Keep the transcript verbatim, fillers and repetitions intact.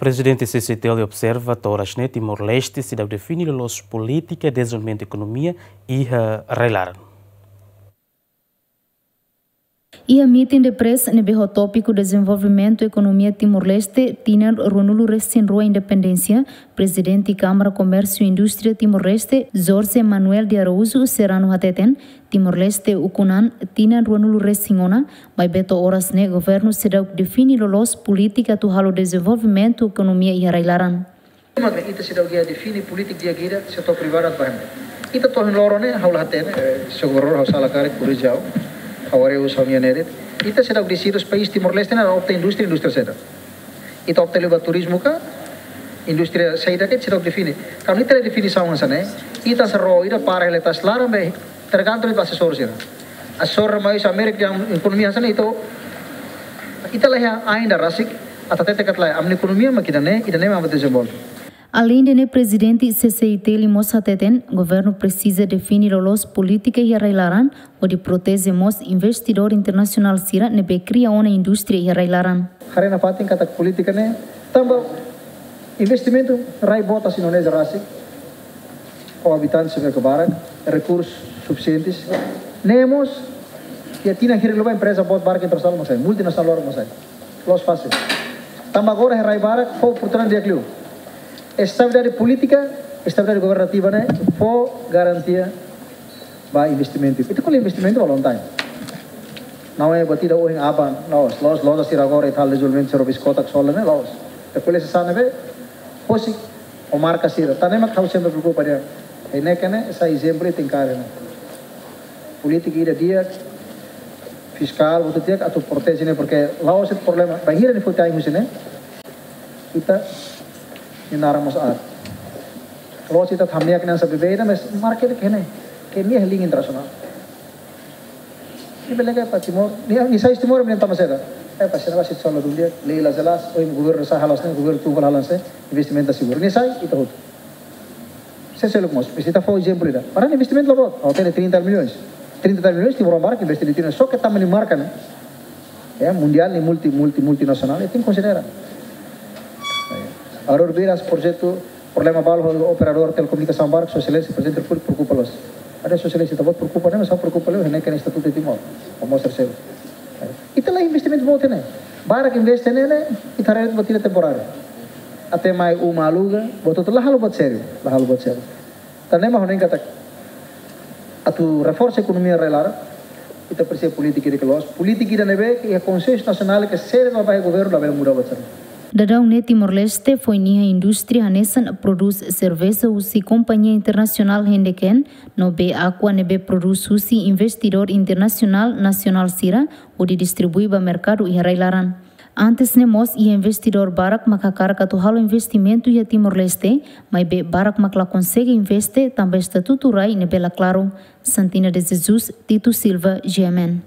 Prezidente C C T L observa toras ne'e Timor-Leste seidauk define loloos polítika dezenvolvimentu ekonomia iha rai-laran. Iha meeting de press ne'ebé ho tópiku dezenvolvimentu ekonomia Timor-Leste tinan ruanulu resin rua independénsia, Prezidente Kámara Komérsiu Indústria Timor-Leste, Jorge Manuel de Araújo Serrano hateten, Timor-Leste ukun an tinan ruanulu resin ona, maibé to'o oras ne'e governu seidauk define loloos polítika atu halo dezenvolvimentu ekonomia iha rai-laran. Mak ita seidauk iha define polítika di'ak ida, setór privadu atu bá hemu. Ita to'o ohin loron ne'e, ha'u la hatene, eh, se governadór ha'u sala karik, korrije ha'u, ha'u haree husi ha'u-nia ne'e de'it. Ita seidauk deside país Timor-Leste ne'e opta indústria, indústria saida. Ita opta liu ba turizmu ka, indústria saida ka, ita seidauk define. Kuandu ita la define saida hanesan ne'e, ita seidauk ró ida para hela iha laran be tergantung ba asesór sira. Asesór mai husi Amérika nian ekonomia hanesan ne'e, ita, ita la iha ain ida rasik atu hatete katak lae, ami-nia ekonomia mak ida-ne'e, ida-ne'e mak dezenvolve. Aleinde ne'e, Prezidente C C I T L mós hateten, governu presiza define loloos polítika iha rai-laran, hodi proteje mós investidór internasionál sira ne'ebé kria ona indústria iha rai-laran. Haree nafatin katak polítika ne'e, tanba investimentu rai boot hanesan Indonézia rasik, ho abitante sira ne'ebé barak, rekursu sufisiente. Ne'e mós, iha tinan hirak liubá empreza boot barak internasionál mós sai, multinasionál loron mós sai. Loos fásil. Tanba agora iha rai barak, fó oportunidade di'ak liu. Estabilidade polítika, estabilidade governativa ne'e, fó garantia ba investimentu. Ita ko'alia investimentu ba long time. Não é batida ohin aban, loos, loos, loja sira agora ita halo dezenvolvimentu sira, biskota, sola ne'e, loos. Ita ko'alia hanesan ne'ebé, husik ho marka sira. Tan ne'e mak ha'u sempre preokupa dehan. Iha ne'e kanek, hanesan ezemplu ita enkara ne'e. Polítika ida di'ak, fiskál, buat di'ak, atu proteje ne'e, porque la'ós de'it problema, bainhira nia foti ain husi ne'e, ita-nia naran mós aat. La'ós ita hamriik hanesan bebé ida, mas marka ida iha ne'e, ke nia iha liña internasionál. Nia bele ke ba Timor, nia, nia sai Timor, nia tama seda. Eh, pasti na basi sola dun di'ak, lei la jelas, ohin governu sá halo hanesan ne'e, governu tun halo hanesan ne'e, investimentu seguru. Nia sai, ita hotu. Sé seluk mós, mas ita fó ezemplu ida. Para investimentu la boot, ha'u hatene trinta milhões. Trinta milhões, Timor barak investe iha Timor, só ke tanba nia marka ne'e. Ya, mundiál ne'e multi, multi, multinasionál, ita tenke konsidera. Agora vira projetu, problema balu, operadór telekomunikasaun barak, Sua Exelénsia Prezidente Repúblika preokupa loos. Atu Sua Exelénsia ita-boot preokupa, ne'e, mas ha'u preokupa liu, ne'e ke estatutu Timor, vamos terceiro. Ita la investimentu boot ne'e. Barak investe ne'e, ne'e, ita haree buat ida temporáriu. Até mai uma aluga, buat hotu la halo buat sériu, la halo buat sériu. Tan ne'e mak ha'u dehan katak atu reforsa ekonomia rai-laran, ita presiza polítika ida ke loos, polítika ida ne'ebé ke iha konsensu nasionál ke sériu ba iha governu labele muda buat sira. Daudaun ne'e Timor-Leste foin iha indústria hanesan prodús serveja husi kompañia internasionál Heineken, no bee Aqua ne'ebé prodús husi investidór internasionál nasionál sira, hodi distribui ba merkadu iha rai-laran. Antes ne'e mós iha investidór barak mak hakarak atu halo investimentu iha Timor-Leste, maibé barak mak la konsege investe tanba estatutu rai ne'ebé la klaru. Santina de Jesus, Tito Silva, G M N.